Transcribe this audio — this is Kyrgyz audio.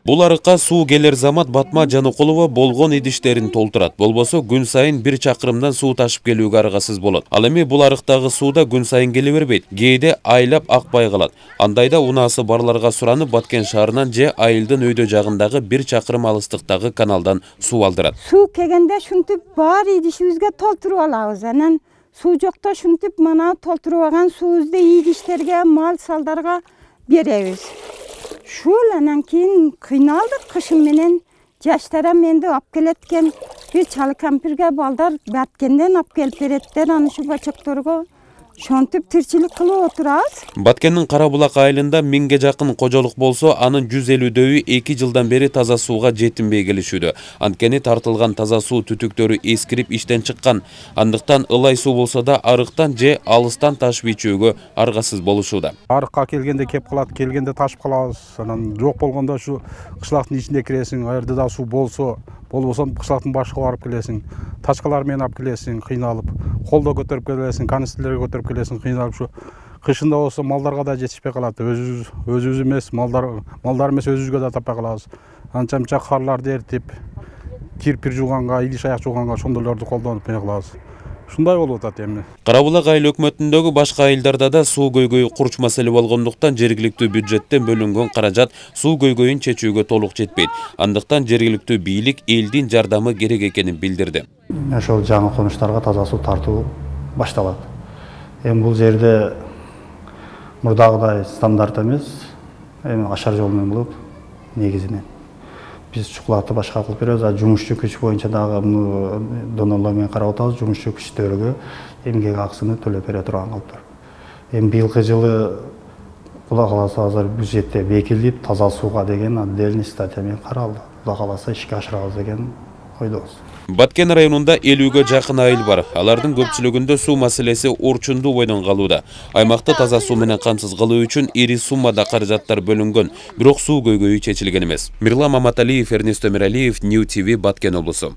Бул арыкка суу келер замат Батма Жаныкулова болгон идиштерин толтурат. Болбосо күн сайын 1 чакырымдан суу ташып келүүгө аргасыз болот. Ал эми бул арыктагы сууда күн сайын келе бербейт. Кээде айлап акпай калат. Андайда унаасы барларга суранып Баткен шаарынан же айылдын өйдө жагындагы 1 чакырым алыстыктагы каналдан суу алдырат. Суу келгенде шунтип бар идишибизге толтуруп алабыз. Анан суу жокто шунтип мана толтуруп алган суубузду идиштерге, мал салдарга беребиз. Шул анан кийин кыйналдык кышын менен жаштарам менди алып келет экен. Бир чалы кампирге балдар Баткенден алып келип береттер аны ушу бачокторго. Шонтип тирчилик кылып отурабыз. Баткендин Карабулак айылында 1000ге жакын кожолук болсо, анын 150дөү 2 жылдан бери таза сууга жетинбей келишүүдө. Анткени тартылган таза суу түтүктөрү эскирип иштен чыккан. Андыктан ылай суу болсо да арыктан же алыстан ташып ичүүгө аргасыз болушууда. Арыкка келгенде кеп калат, келгенде ташып калабыз. Анан жок болгондо ушу кышлактын ичинде киресиң, аерде да суу болсо, болбосо кышлактын башына барып келесиң. Тачкалар менен алып келесиң, кыйналып, колдо көтөрүп келесиң, канистрлерге көтөрүп келесиң, кыйналып ушу кышында болсо малдарга да жетишпей калат. Өзүбүз эмес, малдар эмес өзүбүзгө да таппай калабыз. Анча мынча карларды эртип, кирпир жууганга, идиш аяк жууганга ошондойлорду колдонуп эмне кылабыз. Ушундай болуп атат эми. Карабулак айыл өкмөтүндөгү башка айылдарда да суу көйгөйү курч маселе болгондуктан жергиликтүү бюджеттен бөлүнгөн каражат суу көйгөйүн чечүүгө толук жетпейт. Андыктан жергиликтүү бийлик элдин жардамы керек экенин билдирди. Ошол жаңы конуштарга таза суу тартуу башталат. Эми бул жерде мурдагыдай стандарт эмес, эми ашар жол менен болот негизинен. Биз чукулатып башка кылып беребиз, а жумушчу күч боюнча дагы донорлор менен карап атабыз, жумушчу күчтөргө эмгек акысын төлөп бере турган кылыптыр. Эми быйылкы жылы Кудай кааласа азыр бюджетте бекитилип, таза сууга деген отдельный статья менен каралды. Кудай кааласа ишке ашырабыз деген ойдобуз. Баткен районунда 50ге жакын айыл бар. Алардын көпчүлүгүндө суу маселеси орчундуу бойдон калууда. Аймакты таза суу менен камсыз кылуу үчүн ири суммада каражаттар бөлүнгөн, бирок суу көйгөйү чечилген эмес. Мирлан Маматалиев, Эрнест Өмүралиев, New TV, Баткен облусу.